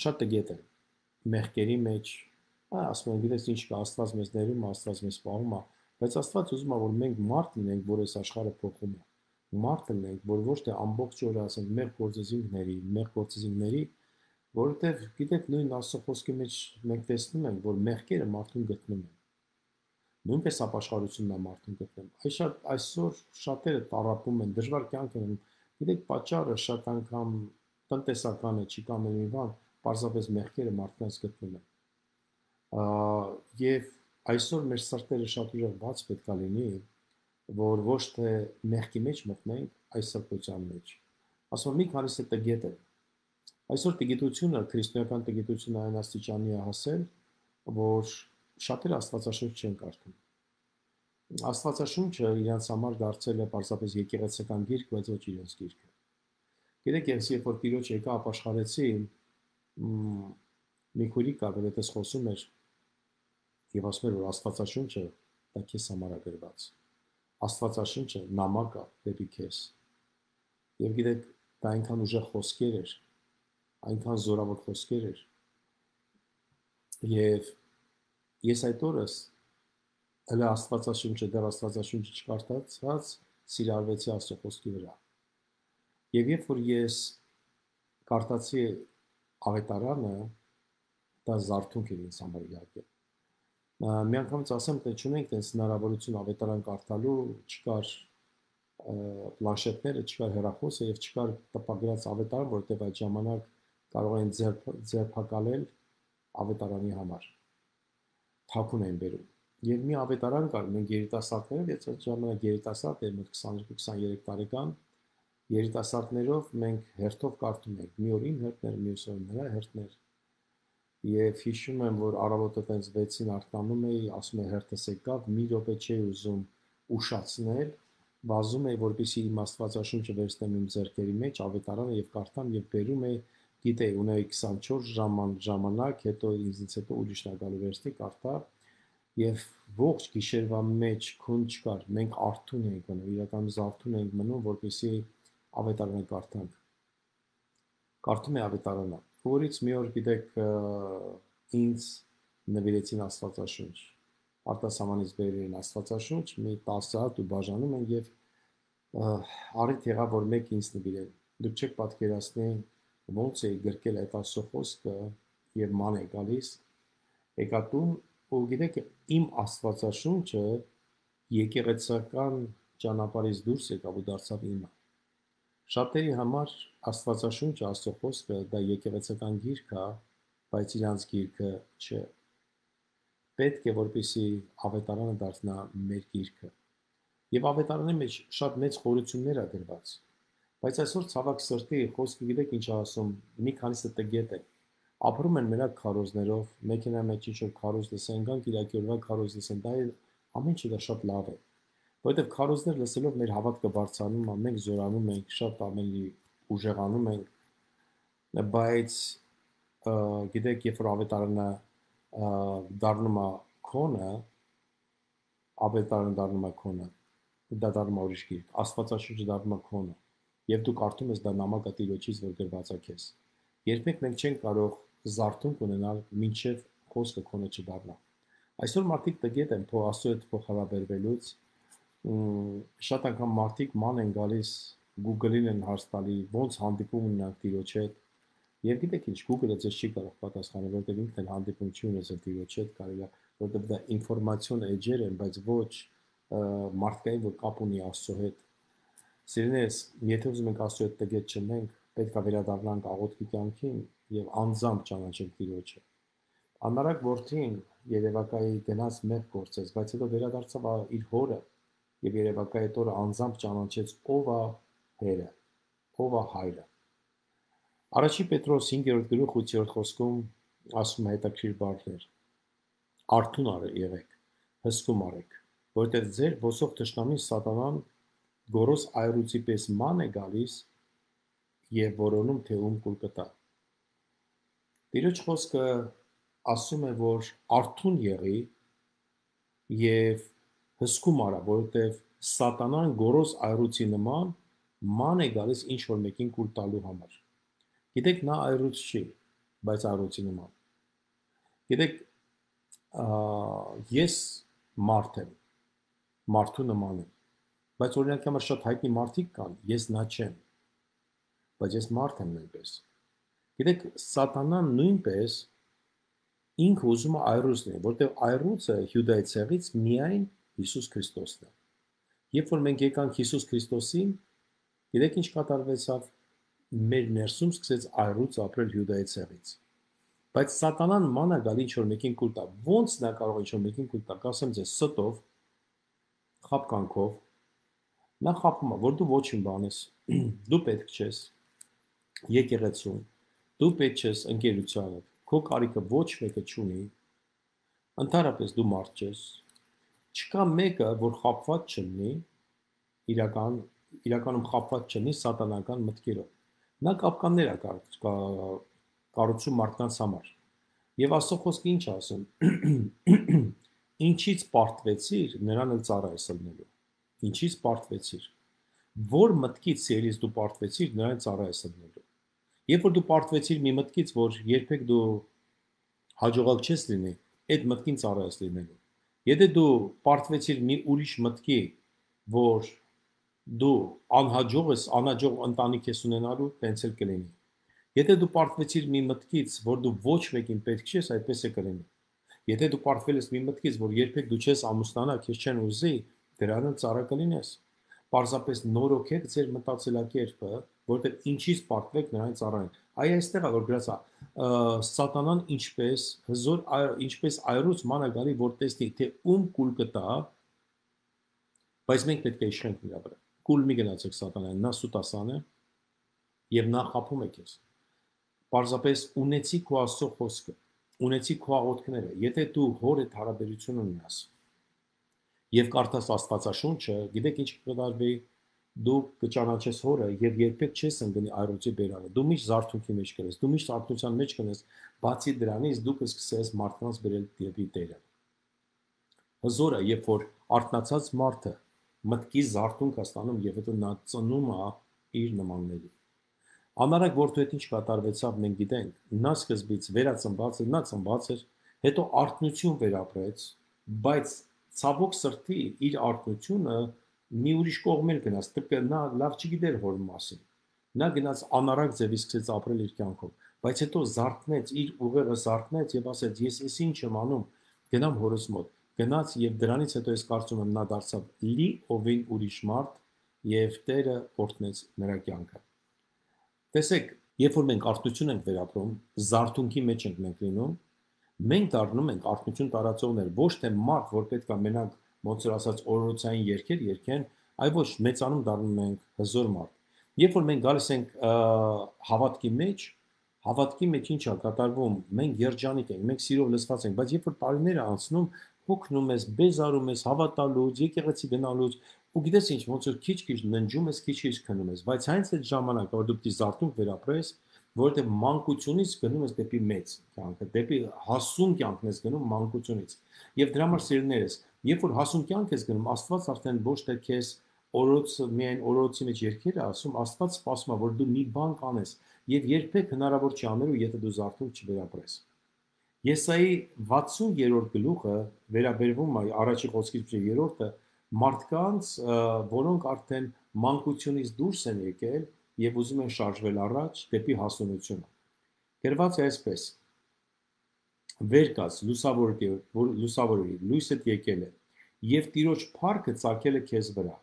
շատ տգետ են մեղքերի մեջ, ասում են, գիտես ինչ կա, Աստված մեզ ներում, Աստված մեզ պահում է, բայց Աստված ուզում է, որ մենք մարդ լինենք, որ այս աշխարհը փոխում է։ Մարդ լինենք, որ ոչ թե ամբողջ օրը ասենք մեր գործեզինքների, մեր գործեզինքների, որովհետև գիտեք նույն Աստծո խոսքի մեջ մենք տեսնում ենք, որ մեղքերը մարդուն գտնում են։ Նույնպես ապաշխարությունն է մարդուն գտնում։ Այս շատ այսօր շատերը տառապում են, դժվար կյանք են, գիտեք պատճառը շատ անգամ տնտեսական է, չի կամ մի բան, պարզապես մեղքերը մարդկանց գտնում են։ Եվ այսօր մեր սրտերը շատ ուժեղ բաց պետք է լինի, որ ոչ թե մեղքի մեջ մտնենք այս սրբության մեջ։ Ասում մի քանիսը տգետ է։ Այսօր տգիտությունը, քրիստոնեական տգիտությունը այն աստիճանի է հասել, որ շատերը Աստվածաշունչ չեն կարդում։ Աստվածաշունչը իրենց համար դարձել է պարզապես եկեղեցական գիրք, բայց ոչ իրենց գիրքը։ Գիտեք, ես երբ որ Տիրոջ եկա ապաշխարեցի, մի քուրիկ կար, որ այդպես խոսում էր եւ ասում էր, որ Աստվածաշունչը դա քեզ համար է գրված։ Աստվածաշունչը նամակ է դեպի քեզ։ Եվ գիտեք, դա այնքան ուժեղ խոսքեր էր, այնքան զորավոր խոսքեր էր։ Եվ ես այդ օրս հələ Աստվածաշունչը դեռ Աստվածաշունչը չկարդացած սիրարվեցի Աստծո խոսքի վրա։ Եվ երբ որ ես կարդացի Ավետարանը, դա զարթոնք էր ինձ համար իհարկե։ Մի անգամից ասեմ, թե չունենք տես հնարավորություն Ավետարան կարդալու, չկար պլանշետները, չկար հեռախոսը եւ չկար տպագրած Ավետարան, որովհետեւ այդ ժամանակ կարող էին ձերբակալել Ավետարանի համար։ Թաքուն էին բերում։ Եվ մի Ավետարան կար, մենք երիտասարդներով, ես այդ ժամանակ երիտասարդ եմ, քսաներկու քսաներեք տարեկան, երիտասարդներով մենք հերթով կարդում ենք, մի օր իմ հերթներ, մյուս օր նրա հերթներ։ Եվ հիշում եմ, որ առավոտը տենց վեցին արթնանում էի, ասում է հերթս եկավ, մի րոպե չէի ուզում ուշացնել, վազում էի, որպեսզի իմ Աստվածաշունչը վերցնեմ իմ ձեռքերի մեջ, Ավետարանը եւ կարդամ եւ բերում էի, գիտեի, ունեի քսանչորս ժամ ժամանակ, հետո ինձից հետո ուրիշն է գալու վերստի կարդա եւ ողջ գիշերվա մեջ քուն չկար, մենք արթուն էինք մնում, իրականում զարթուն էինք մնում, որպեսզի Ավետարանը կարդանք։ Կարդում էի Ավետարանը, որից մի օր գիտեք ինձ նվիրեցին Աստվածաշունչ, արտասահմանից բերել Աստվածաշունչ, մի տասը հատ ու բաժանում են եւ առիթ եղավ, որ մեկ ինձ նվիրեն։ Դուք չեք պատկերացնի ոնց էի գրկել այդ Աստծո խոսքը եւ ման է գալիս, եկա տուն ու գիտեք իմ Աստվածաշունչը եկեղեցական ճանապարհից դուրս եկավ ու դարձավ իմը։ Շատերի համար Աստվածաշունչը, Աստծո խոսքը դա եկեղեցական գիրք է, բայց իրանց գիրքը չէ։ Պետք է որպեսզի Ավետարանը դառնա մեր գիրքը։ Եվ Ավետարանի մեջ շատ մեծ խորություններ է գրված։ Բայց այսօր ցավոք սրտի խոսքը գիտեք ինչ ասում, մի քանիսը տգետ է։ Ապրում են մենակ քարոզներով, մեքենայի մեջ ինչ-որ քարոզ լսեն, գան Կիրակի օրվա քարոզ լսեն, դա ամեն ինչը դա շատ լավ է։ Որովհետև քարոզներ լսելով մեր հավատքը բարձրանում է, մենք զորանում ենք, շատ ամենի ուժեղանում ենք, բայց գիտեք, երբ որ Ավետարանը դառնում է քոնը, Ավետարանը դառնում է քոնը, դա դառնում է ուրիշ գիրք, Աստվածաշունչը դառնում է քոնը, եւ դու կարդում ես դա նամակը Տիրոջից, որ գրված է քեզ։ Երբեք մենք չենք կարող զարթոնք ունենալ, մինչև խոսքը քոնը չդառնա։ Այսօր մարդիկ տգետ են Աստծո հետ փոխհարաբերվելուց, շատ անգամ մարդիկ ման են գալիս Google-ին են հարց տալի, ոնց հանդիպում ունենանք Տիրոջ հետ։ Եվ գիտեք ինչ, Google-ը ձեզ չի կարող պատասխանել, որովհետև ինքն էլ հանդիպում չի ունեցել Տիրոջ հետ, կարելի է, որովհետև դա ինֆորմացիոն էջեր են, բայց ոչ մարդկային, որ կապ ունի Աստծո հետ։ Սիրելիներս, եթե ուզում ենք Աստծո հետ տգետ չլինենք, պետք է վերադառնանք աղոթքի կյանքին եւ անձամբ ճանաչենք Տիրոջը։ Անարակ որդին Երևակայի գնաց մեղք գործեց, բայց հետո վերադարձավ իր հորը եւ Երևակայի տորը անձամբ ճանաչեց ով է Հերը, ով է Հայրը։ Առաջին Պետրոս հինգերորդ գլուխ ութերորդ խոսքում ասում է հետաքրքիր բառներ. Արթուն եղեք, հսկում արեք, որտեղ ձեր ոսող թշնամին սատանան գորոս այրուցի պես ման է գալիս եւ որոնում թե ում կուլ կտա։ Տիրոջ խոսքը ասում է, որ արթուն եղի եւ հսկում արա, որովհետեւ սատանան գորոս այրուցի նման ման է գալիս ինչ որ մեկին կուլ տալու համար։ Գիտեք, նա այրուց չի, բայց այրուցի նման։ Գիտեք, ես մարդ եմ, մարդու նման եմ, բայց օրինակ համար շատ հայտնի մարդիկ կան, ես նա չեմ, բայց ես մարդ եմ նույնպես։ Գիտեք, սատանան նույնպես ինքը ուզում է այրուց լինի, որտեղ այրուծը Հյուդայի ցեղից միայն Հիսուս Քրիստոսն է։ Երբ որ մենք եկանք Հիսուս Քրիստոսին, գիտեք ինչ կատարվեցավ, մեր ներսում սկսեց այրուց ապրել Հյուդայի ցեղից։ Բայց սատանան մանա գալի ինչ որ մեկին կուլ տա, ոնց նա կարող է ինչ որ մեկին կուլ տա, կասեմ ձեզ ստով, խապկանքով, նա խապում է, որ դու ոչինչ բան ես, դու պետք չես եկեղեցում, դու պետք չես ընկերությանը, քո կարիքը ոչ մեկը չունի, ընդհանրապես դու մարդ չես, չկա մեկը, որ խապված չլինի, իրական, իրականում խապված չլինի սատանական մտքերով։ Նա կապկաններ է կառուցում մարդկանց համար։ Եվ Աստծո խոսքը ինչ ասում, ինչից պարտվեցիր, նրան էլ ծառա ես ելնելու։ Ինչից պարտվեցիր, որ մտքից սիրից դու պարտվեցիր, նրան ծառա ես ելնելու։ Երբ որ դու պարտվեցիր մի մտքից, որ երբեք դու հաջողակ չես լինի, այդ մտքին ծառա ես լինելու։ Եթե դու պարտվեցիր մի ուրիշ մտքի, որ դու անհաջող ես, անհաջող ընտանիք ես ունենալու, տենց էլ կլինի։ Եթե դու պարտվեցիր մի մտքից, որ դու ոչ մեկին պետք չես, այդպես է կլինի։ Եթե դու պարտվել ես մի մտքից, որ երբեք դու չես ամուսնանա, քեզ չեն ուզի, դրան էլ ծառա կլինես։ Պարզապես նորոգեք ձեր մտածելակերպը, որտեղ ինչից պարտվեք նրան ծառայեն։ Այ այստեղ է որ գրած է, սատանան ինչպես հզոր ինչպես այրուց մանա գալի, որ տեսնի, թե ում կուլ կտա, բայց մենք պետք է իշխենք նրա վրա։ Կուլ մի գնացեք սատանային, նա սուտասան է եւ նա խափում է քեզ։ Պարզապես ունեցի քո Աստծո խոսքը, ունեցի քո աղոթքները։ Եթե դու հոր հետ հարաբերություն ունենաս եւ կարդաս Աստվածաշունչը, գիտեք ինչ կդառնի, դու կճանաչես հորը եւ երբեք չես ընկնի այրոցի բերանը։ Դու միշտ զարթունքի մեջ կես, դու միշտ արթունության մեջ կես, բացի դրանից դու կսկսես մարդկանց բերել դեպի Տերը։ Հզորը, երբ որ արթնացած մարդը մտքի զարթունք է ստանում եւ հետո նա ծնում է իր նմանների։ Անարակ որդու հետ ինչ կատարվեցավ մենք գիտենք, նա սկզբից վերածնված էր, նա ծնված էր, հետո արթնություն վերապրեց, բայց ցավոք սրտի իր արթնությունը մի ուրիշ կողմեր գնաց, դեպի նա լավ չգիտեր հոր մասին։ Նա գնաց անարակ ձևի սկսեց ապրել իր կյանքով, բայց հետո զարթնեց, իր ուղեղը զարթնեց եւ ասեց, ես էս ինչ եմ անում, գնամ հորս մոտ։ Գնաց եւ դրանից հետո ես կարծում եմ նա դարձավ լի ովին ուրիշ մարդ եւ Տերը օրհնեց նրա կյանքը։ Տեսեք, երբ որ մենք արթնություն ենք վերապրում, զարթունքի մեջ ենք մենք լինում, մենք դառնում ենք արթնություն տարածողներ, ոչ թե մարդ, որ պետք է մենակ ոնց որ ասած օրորոցային երգեր երգեն, այլ ոչ մեծանում դառնում ենք հզոր մարդ։ Երբ որ մենք գալիս ենք հավատքի մեջ, հավատքի մեջ ինչ է կատարվում, մենք երջանիկ ենք, մենք սիրով լցված ենք, բայց երբ որ տարիները անցնում, հոգնում ես, բեզարում ես, հավատալուց, եկեղեցի գնալուց, ու գիտես ինչ, ոնց որ քիչ-քիչ ննջում ես, քիչ-քիչ քնում ես, բայց հենց այդ ժամանակը, որ դու պիտի զարթունք վերապրես, որովհետև մանկությունից գնում ես դեպի մեծ կյանքը, դեպի հասուն կյանքն ես գնում մանկությունից։ Եվ դրա համար սիրելիներս, երբ որ հասուն կյանք ես գնում, Աստված արդեն ոչ թե քեզ օրոց միայն օրոցի մեջ երկեր է ասում, Աստված սպասում է, որ դու մի բան կանես, եւ երբեք հնարավոր չի անելու, եթե դու զարթունք չվերապրես։ Եսայի վաթսուն-երրորդ գլուխը վերաբերվում է առաջի խոսքից երրորդը մարդկանց, որոնք արդեն մանկությունից դուրս են եկել եւ ուզում են շարժվել առաջ դեպի հասունությունը։ Գրված է այսպես. Վեր կաց լուսավորի, որ լուսավորի, լույսդ եկել է, եւ Տիրոջ փառքը ծագել է քեզ վրա,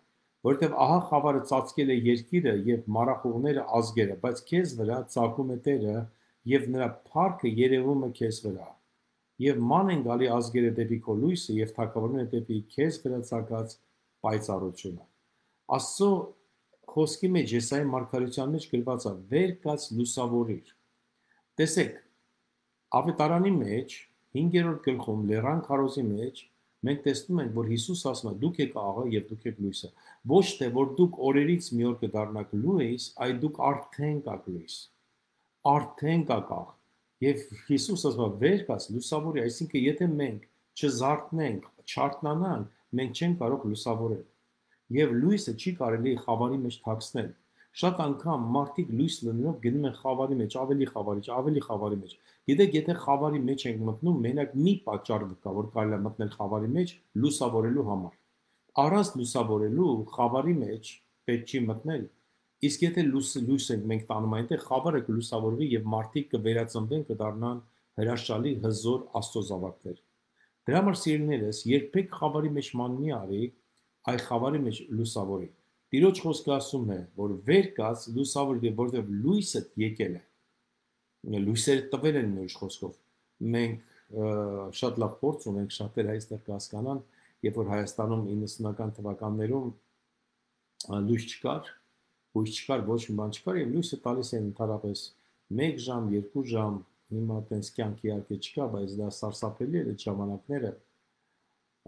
որովհետեւ ահա խավարը ծածկել է երկիրը եւ մարախուղները ազգերը, բայց քեզ վրա ծագում է Տերը եւ նրա փառքը երևում է քեզ վրա։ Եվ ման են գալի ազգերը դեպի քո լույսը եւ թագավորները դեպի քեզ վրա ծագած պայծառությունը։ Աստծո խոսքի մեջ Եսայի մարգարեության մեջ գրված է. վեր կաց լուսավորիր։ Տեսեք, ավետարանի մեջ հինգերորդ գլխում լեռան քարոզի մեջ մենք տեսնում ենք, որ Հիսուս ասում է, դուք եք աղը եւ դուք եք լույսը։ Ոչ թե որ դուք օրերից մի օր կդառնաք լույս, այլ դուք արդեն կաք լույս։ Արդեն կաք աղ։ Եվ Հիսուս ասում է, վեր կաց լուսավորի, այսինքն եթե մենք չզարթնենք, չարթնանանք, մենք չենք կարող լուսավորել։ Եվ լույսը չի կարելի խավարի մեջ թաքցնել։ Շատ անգամ մարդիկ լույս լնելով գնում են խավարի մեջ, ավելի խավարի, ավելի խավարի մեջ։ Գիտեք, եթե խավարի մեջ ենք մտնում, մենակ մի պատճառ կա, որ կարելի է մտնել խավարի մեջ լուսավորելու համար։ Առանց լուսավորելու խավարի մեջ պետք չի մտնել։ Իսկ եթե լույս լույս ենք մենք տանում այնտեղ, խավարը կլուսավորվի եւ մարդիկ կվերածնվեն, կդառնան հրաշալի հզոր աստծո զավակներ։ Դրա համար սիրելիներս, երբեք խավարի մեջ ման մի արի, այ խավարի մեջ լուսավորի։ Տիրոջ խոսքը ասում է, որ վեր կաց լուսավորի, որովհետև լույսը եկել է։ Լույսերը տվել են մեր խոսքով։ Մենք շատ լավ փորձ ունենք, շատերը այստեղ կհասկանան, երբ որ Հայաստանում իննսունական թվականներում լույս չկար, լույս չկար, ոչ մի բան չկար, եւ լույսը տալիս են ընդհանրապես մեկ ժամ, երկու ժամ, հիմա տենց կյանք իհարկե չկա, բայց դա սարսափելի էր այդ ժամանակները։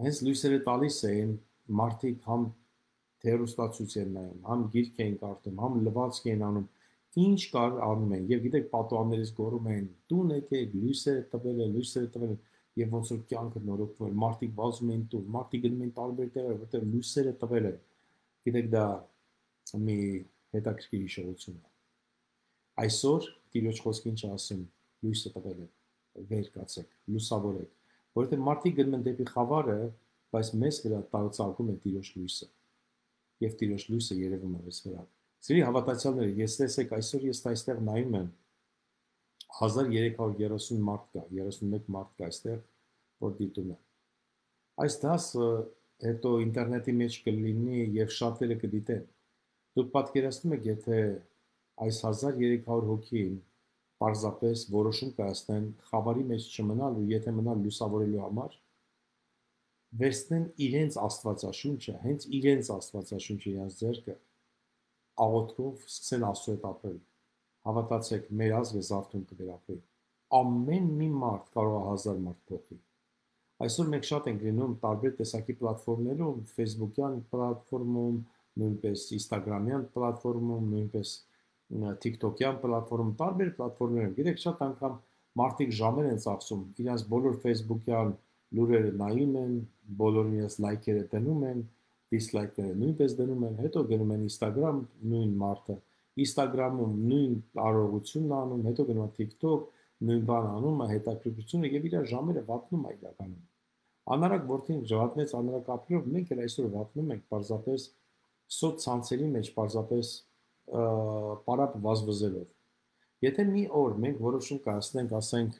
Հենց լույսերը տալիս էին, մարդիկ համ հեռուստացույց են նայում, համ գիրք էին կարդում, համ լվացք էին անում, ինչ կար անում են, եւ գիտեք պատուհաններից գոռում են, տուն եկեք, լույսերը տվել են, լույսերը տվել են, եւ ոնց որ կյանքը նորոգվում էր, մարդիկ վազում էին տուն, մարդիկ գնում էին տարբեր տեղեր, որտեղ լույսերը տվել են։ Գիտեք, դա մի հետաքրքիր հիշողություն է։ Այսօր Տիրոջ խոսքը ինչ ասում, լույսը տվել է, վեր կացեք, լուսավորեք, որովհետեւ մարդիկ գնում են դեպի խավարը, բայց մեզ վրա տարածակում է Տիրոջ լույսը, եւ Տիրոջ լույսը երևում է մեզ վրա։ Սիրելի հավատացյալներ, ես տեսեք, այսօր ես այստեղ նայում եմ հազար երեք հարյուր երեսուն մարդ կա, երեսունմեկ մարդ կա այստեղ, որ դիտում է։ Այս դասը հետո ինտերնետի մեջ կլինի եւ շատերը կդիտեն։ Դուք պատկերացնում եք, եթե այս հազար երեք հարյուր հոգին պարզապես որոշում կայացնեն խավարի մեջ չմնալ ու եթե մնալ լուսավորելու համար, վերցնեն իրենց աստվածաշունչը, հենց իրենց աստվածաշունչը իրենց ձեռքը, աղոթքով սկսեն Աստծո հետ ապրել։ Հավատացեք, մեր ազգը զարթում կվերապրի։ Ամեն մի մարդ կարող է հազար մարդ փոխի։ Այսօր մենք շատ ենք լինում տարբեր տեսակի պլատֆորմներում, Facebook-յան պլատֆորմում, նույնպես Instagram-յան պլատֆորմում, նույնպես TikTok-յան պլատֆորմում, տարբեր պլատֆորմներում։ Գիտեք, շատ անգամ մարդիկ ժամեր են ծախսում, իրենց բոլոր Facebook-յան լուրերը նայում են, բոլորին իրենց լայքերը դնում են, դիսլայքները նույնպես դնում են, հետո գնում են Instagram, նույն մարդը, Instagram-ում նույն արարողությունն անում, հետո գնում է TikTok, նույն բան անում է, հետաքրքրությունը եւ իր ժամերը վատնում է իրականում։ Անարակ որդին ժողովնեց անարակ ապրելով, մենք էլ այսօր վատնում ենք պարզապես սոցցանցերի մեջ, պարզապես պարապ վազվզելով։ Եթե մի օր մենք որոշում կայացնենք, ասենք,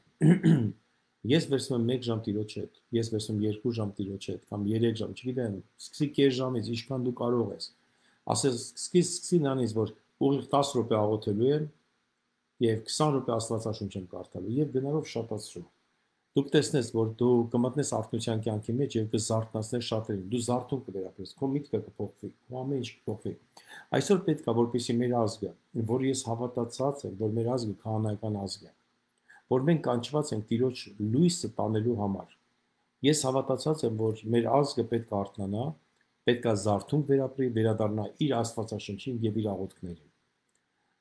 ես վերցնում եմ մեկ ժամ Տիրոջ հետ, ես վերցնում երկու ժամ Տիրոջ հետ, կամ երեք ժամ, չգիտեմ, սկսի կես ժամից, ինչքան դու կարող ես։ Ասես, սկսի սկսի նրանից, որ ուղիղ դաս րոպե աղոթելու եմ եւ քսան րոպե Աստվածաշունչ եմ կարդալու եւ գնալով շատացում։ Դուք տեսնես, որ դու կմտնես արթնության կյանքի մեջ եւ կզարթնացնես շատերին։ Դու զարթում կվերապրես, քո միտքը կփոխվի, քո ամեն ինչ կփոխվի։ Այսօր պետք է, որպեսզի մեր ազգը, որ ես հավատացած եմ, որ մեր ազգը քահանայական ազգ է, որ մենք կանչված ենք Տիրոջ լույսը տանելու համար։ Ես հավատացած եմ, որ մեր ազգը պետք է արթնանա, պետք է զարթում վերապրի, վերադառնա իր Աստվածաշնչին եւ իր աղոթքներին։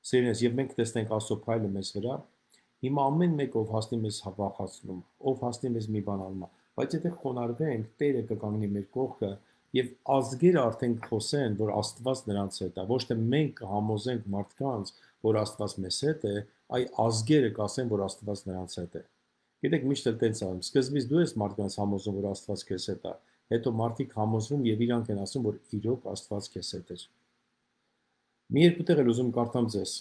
Սիրելիներ, եւ մենք տեսնենք Աստծո փայլը մեզ վրա։ Հիմա ամեն մեկ ով հասնի մեզ հավախացնում, ով հասնի մեզ մի բան անում, բայց եթե խոնարհվենք, Տերը կկանգնի մեր կողքը եւ ազգերը արդեն կխոսեն, որ Աստված նրանց հետ է, ոչ թե մենք կհամոզենք մարդկանց, որ Աստված մեզ հետ է, այ ազգերը կասեն, որ Աստված նրանց հետ է։ Գիտեք, միշտ էլ տենց անում, սկզբից դու ես մարդկանց համոզում, որ Աստված քեզ հետ է, հետո մարդիկ համոզվում եւ իրանք են ասում, որ իրոք Աստված քեզ հետ է։ Մի երկու տեղ էլ ուզում կարդամ ձեզ։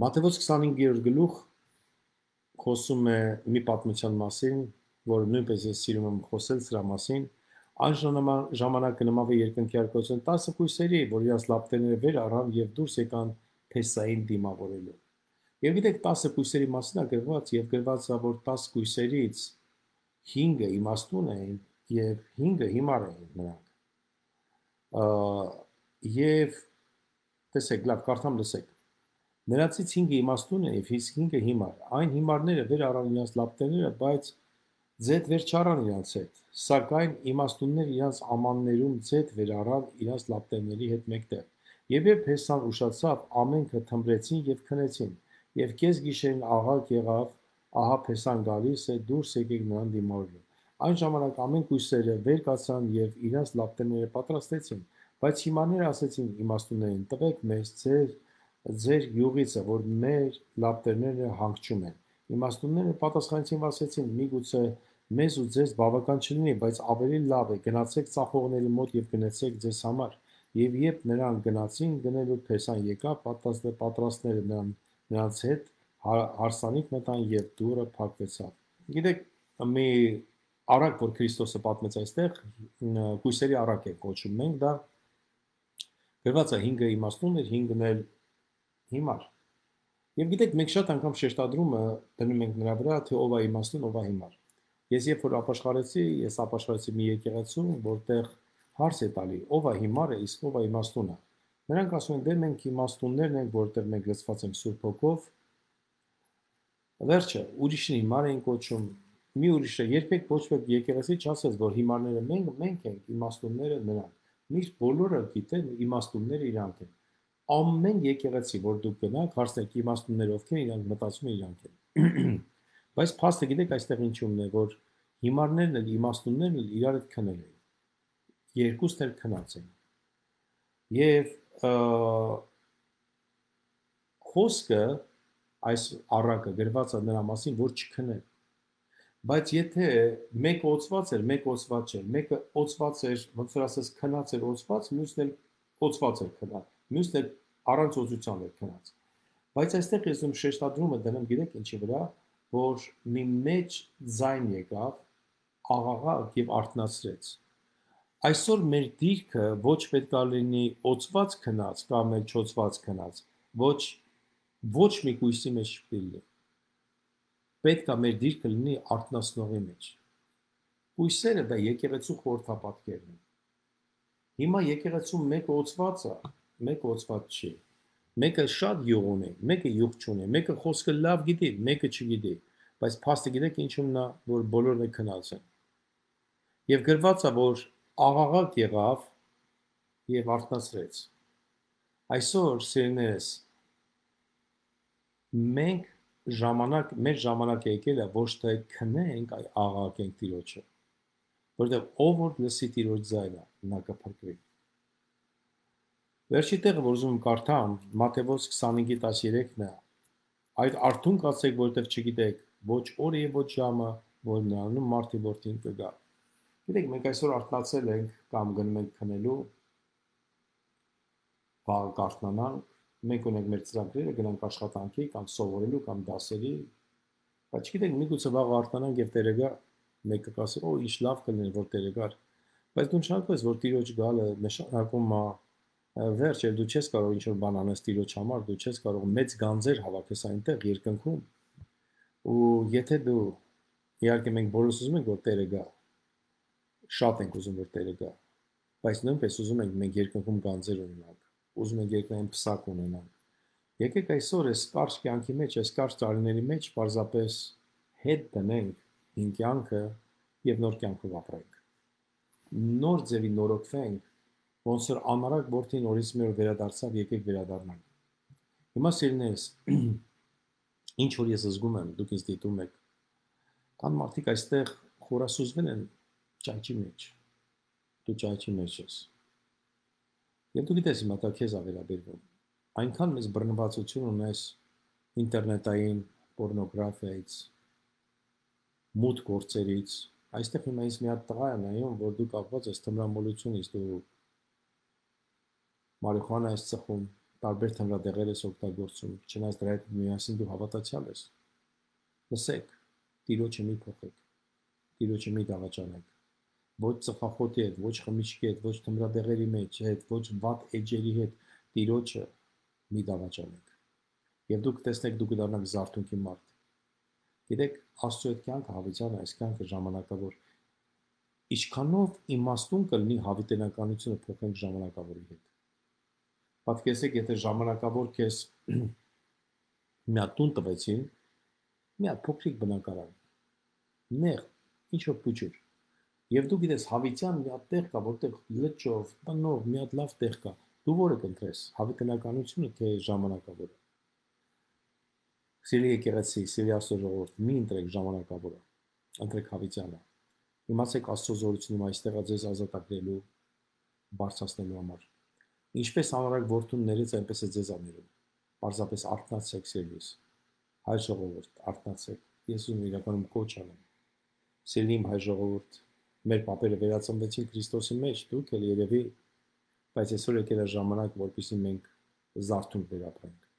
Մատթեոս քսանհինգերորդ գլուխ խոսում է մի պատմության մասին, որ նույնպես ես սիրում եմ խոսել սրա մասին։ Այն ժամանակ նմավ է երկնքի արկայություն տասը կույսերի, որ իրաց լապտերները վեր առան եւ դուրս եկան Փեսային դիմավորելու։ Եվ գիտեք, տասը կույսերի մասին է գրված եւ գրված է, որ տասը կույսերից հինգը իմաստուն էին եւ հինգը հիմար էին նրանք։ Եվ տեսեք, լավ, կարդամ լսեք։ Նրանցից հինգը իմաստուն է եւ հինգը հիմար։ Այն հիմարները վեր առան իրաց լապտերները, բայց Ձեթ վեր չառան իրանց հետ, սակայն իմաստուններ իրանց ամաններում ձեթ վեր առան իրանց լապտերների հետ մեկտեղ։ Եվ երբ Հեսան ուշացավ, ամենքը թմբրեցին եւ քնեցին, եւ կես գիշերին աղաղ եղավ, ահա Հեսան գալիս է, դուրս եկեք նրան դիմավորելու։ Այն ժամանակ ամեն կույսերը վեր կացան եւ իրանց լապտերները պատրաստեցին, բայց հիմարները ասեցին իմաստուններին. տվեք մեզ ձեր ձեր յուղիցը, որ մեր լապտերները հանգչում են։ Իմաստունները պատասխանեցին, ասեցին. միգուցե մեզ ու ձեզ բավական չլինի, բայց ավելի լավ է գնացեք ծախողների մոտ եւ գնացեք ձեզ համար։ Եվ երբ նրանք գնացին, գնելու Փեսան եկավ, պատրաստները նրան նրանց հետ հարսանիք մտան եւ դուռը փակվեցավ։ Գիտեք, մի արակ, որ Քրիստոսը պատմեց այստեղ, կույսերի արակ է կոչում մենք, դա գրված է հինգը իմաստուն էր, հինգն էլ հիմար։ Եվ գիտեք, մենք շատ անգամ շեշտադրումը դնում ենք նրա վրա, թե ով է իմաստուն, ով է հիմար։ Ես երբ որ ապաշխարեցի, ես ապաշխարեցի մի եկեղեցու, որտեղ հարց է տալի, ով է հիմարը, իսկ ով է իմաստունը։ Նրանք ասում են, դե մենք իմաստուններն ենք, որտեղ մենք լցված ենք Սուրբ Հոգով։ Վերջը, ուրիշն հիմար էին կոչում, մի ուրիշը երբեք ոչ ոք եկեղեցի չասեց, որ հիմարները մենք, մենք ենք, իմաստունները նրանք։ Միշտ բոլորը գիտեն, իմաստունները իրանք են։ Ամեն եկեղեցի, որ դուք գնաք, հարցնեք իմաստունները ովքեր են, իրանք մտածում են իրանք են։ Բայց փաստը գիտեք այստեղ ինչումն է, որ հիմարներն էլ իմաստուններն էլ իրար հետ քնել են։ Երկուսն էլ քնած են։ Եվ խոսքը այս առակը գրված է նրա մասին, որ չքնեն։ Բայց եթե մեկը օծված էր, մեկը օծված չէր, մեկը օծված էր, ոնց որ ասես քնած էր օծված, մյուսն էլ օծված էր քնած, մյուսն էլ առանց օծության էր քնած։ Բայց այստեղ ես ում շեշտադրումը դնում, գիտեք ինչի վրա, որ մի մեջ ձայն եկավ, աղաղակ եւ արթնացրեց։ Այսօր մեր դիրքը ոչ պետք է լինի օծված քնած կամ էլ չօծված քնած, ոչ ոչ մի կույսի մեջ չլինի։ Պետք է մեր դիրքը լինի արթնացնողի մեջ։ Կույսերը դա եկեղեցու խորհրդապատկերն են։ Հիմա եկեղեցու մեկը օծված է, մեկը օծված չի։ Մեկը շատ յուղ ունի, մեկը յուղ չունի, մեկը խոսքը լավ գիտի, մեկը չգիտի, բայց փաստը գիտեք ինչումն է, որ բոլորն են քնած են։ Եվ գրված է, որ աղաղակ եղավ եւ արթնացրեց։ Այսօր սիրելիներս, մենք ժամանակ, մեր ժամանակը եկել է ոչ թե քնենք, այլ աղաղակենք Տիրոջը, որտեղ ով որ լսի Տիրոջ ձայնը, նա կփրկվի։ Վերջի տեղը, որ ուզում եմ կարդամ, Մատթեոս քսանհինգ տասներեքն է, այդ արթուն կացեք, որտեղ չգիտեք ոչ օրը եւ ոչ ժամը, որ նրանում մարդի որդին կգա։ Գիտեք, մենք այսօր արթնացել ենք կամ գնում ենք քնելու, վաղը կարթնանանք, մենք ունենք մեր ծրագրերը, գնանք աշխատանքի կամ սովորելու կամ դասերի, բայց գիտեք, միգուցե վաղը արթնանանք եւ Տերը գա, մեկը կասի, օ, ինչ լավ կլիներ, որ Տերը գար, բայց դու նշանակես, որ Տիրոջ գալը նշանակում է վերջ, եւ դու չես կարող ինչ-որ բան անես Տիրոջ համար, դու չես կարող մեծ գանձեր հավաքես այնտեղ երկնքում, ու եթե դու, իհարկե մենք բոլորս ուզում ենք, որ Տերը գա, շատ ենք ուզում, որ Տերը գա, բայց նույնպես ուզում ենք մենք երկնքում գանձեր ունենանք, ուզում ենք երկնային փսակ ունենանք։ Եկեք այսօր այս կարճ կյանքի մեջ, այս կարճ տարիների մեջ պարզապես հետ դնենք հին կյանքը եւ նոր կյանքով ապրենք։ Նոր ձևի նորոգվենք, ոնց որ անարակ որդին օրից մի օր վերադարձավ, եկեք վերադառնանք։ Հիմա սիրելիներս, ինչ որ ես զգում եմ, դուք ինձ դիտում եք, կան մարդիկ այստեղ խորասուզվել են ճայճի մեջ։ Դու ճայճի մեջ ես։ Եվ դու գիտես հիմա դա քեզ ավերաբերվում։ Այնքան մեծ բռնվածություն ունես ինտերնետային պորնոգրաֆիայից, մութ գործերից։ Այստեղ հիմա ինձ մի հատ տղա է նայում, որ դու կապված ես թմրամոլությունից, դու մարիխուանա ես ծխում, տարբեր թմրադեղեր ես օգտագործում, չնայած դրա հետ միասին դու հավատացյալ ես։ Լսեք, Տիրոջը մի փոխեք, Տիրոջը մի դավաճանեք։ Ոչ ծխախոտի հետ, ոչ խմիչքի հետ, ոչ թմրադեղերի մեջ հետ, ոչ վատ էջերի հետ, Տիրոջը մի դավաճանեք։ Եվ դուք տեսնեք, դուք կդառնաք զարթունքի մարդ։ Գիտեք, Աստծո այդ կյանքը հավիտյան է, այս կյանքը ժամանակավոր։ Ինչքանով իմաստուն կլինի հավիտենականությունը փոխենք ժամանակավորի հետ։ Պատկերացրեք, եթե ժամանակավոր քեզ մի հատ տուն տվեցին, մի հատ փոքրիկ բնակարան, նեղ, ինչ որ փուչուր։ Եվ դու գիտես, հավիտյան մի հատ տեղ կա, որտեղ լճով, տնով մի հատ լավ տեղ կա։ Դու որը կընտրես, հավիտենականությունը թե ժամանակավորը։ Սիրելի եկեղեցի, սիրելի Աստծո ժողովուրդ, մի ընտրեք ժամանակավորը, ընտրեք հավիտյանը։ Իմացեք Աստծո զորությունում այստեղա ձեզ ազատագրելու, բարձրացնելու համար։ Ինչպես անորակ որդուն ներեց, այնպես է ձեզ աներում։ Պարզապես արթնացեք սիրելիս։ Հայ ժողովուրդ, արթնացեք։ Ես ուզում եմ իրականում կոչ անեմ։ Սիրելի իմ հայ ժողովուրդ, մեր պապերը վերածնվեցին Քրիստոսի մեջ, դուք էլ երևի, բայց այսօր եկել է ժամանակ, որպեսզի մենք զարթոնք վերապրենք։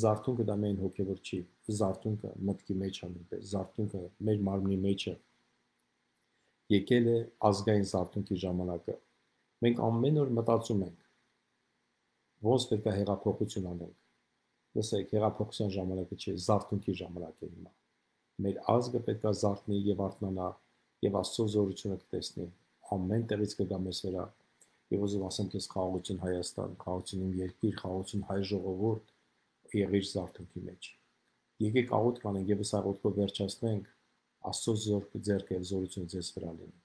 Զարթոնքը դա միայն հոգևոր չի, զարթոնքը մտքի մեջ է նույնպես, զարթոնքը մեր մարմնի մեջ է։ Եկել է ազգային զարթոնքի ժամանակը։ Մենք ամեն օր մտածում ենք, ոնց պետք է հեղափոխություն անենք։ Լսեք, հեղափոխության ժամանակը չէ, զարթոնքի ժամանակ է հիմա։ Մեր ազգը պետք է զարթնի եւ արթնանա եւ Աստծո զորությունը կտեսնի։ Ամեն տեղից կգա մեզ վրա։ Եվ ուզում ասեմ քեզ խաղաղություն Հայաստան, խաղաղություն իմ երկիր, խաղաղություն հայ ժողովուրդ, եղիր զարթոնքի մեջ։ Եկեք աղոթք անենք եւ այս աղոթքով վերջացնենք, Աստծո զորքը ձեռքը եւ զորությունը ձեզ վրա լինի։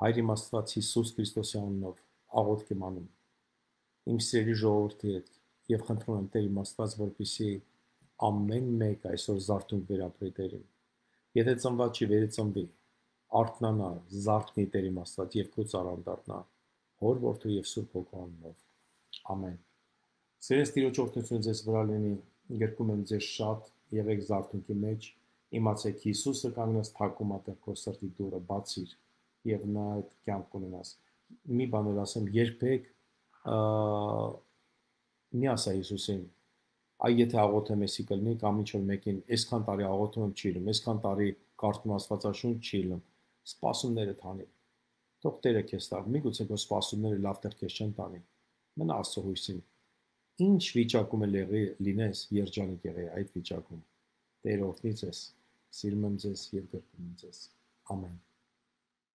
Հայր իմ Աստված Հիսուս Քրիստոսի անունով աղոթք եմ անում իմ սիրելի ժողովրդի հետ եւ խնդրում եմ Տեր իմ Աստված, որպեսզի ամեն մեկ այսօր զարթոնք վերապրի Տերին։ Եթե ծնված չի, վերածնվի, արթնանա, զարթնի Տեր իմ Աստված եւ քո ծառան դառնա, Հոր Որդու եւ Սուրբ Հոգու անունով։ Ամեն։ Սիրելի Տիրոջ օրհնությունը ձեզ վրա լինի, գրկում եմ ձեզ շատ, եղեք զարթոնքի մեջ, իմացեք Հիսուսը կանգնած թակում է քո սրտի դուռը, բացիր եւ նա այդ կյանք ունենաս։ Մի բան էլ ասեմ, երբեք մի ասա Հիսուսին, այ եթե աղոթեմ էսի կլինի կամ ինչ որ մեկին, այսքան տարի աղոթում եմ չի լինում, այսքան տարի կարդում Աստվածաշունչ չի լինում, սպասումները թանի։ Թող Տերը քեզ տա, միգուցե քո սպասումները լավ տեղ քեզ չեն տանի։ Մնա Աստծո հույսին։ Ինչ վիճակում էլ եղի լինես, երջանիկ եղի այդ վիճակում։ Տերը օրհնի ձեզ, սիրում եմ ձեզ եւ գրկում եմ ձեզ։ Ամեն։